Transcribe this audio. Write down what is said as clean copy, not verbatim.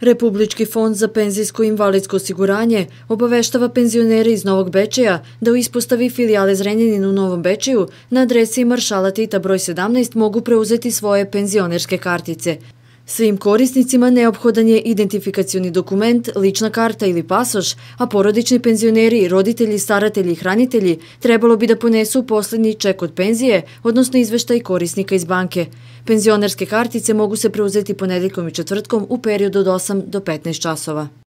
Republički fond za penzijsko i invalidsko osiguranje obaveštava penzionere iz Novog Bečeja da u ispostavi filijale Zrenjanin u Novom Bečeju na adresi Maršala Tita broj 17 mogu preuzeti svoje penzionerske kartice. Svim korisnicima neophodan je identifikacioni dokument, lična karta ili pasoš, a porodični penzioneri, roditelji, staratelji i hranitelji trebalo bi da ponesu posljednji ček od penzije, odnosno izveštaj korisnika iz banke. Penzionerske kartice mogu se preuzeti ponedeljkom i četvrtkom u periodu od 8 do 15 časova.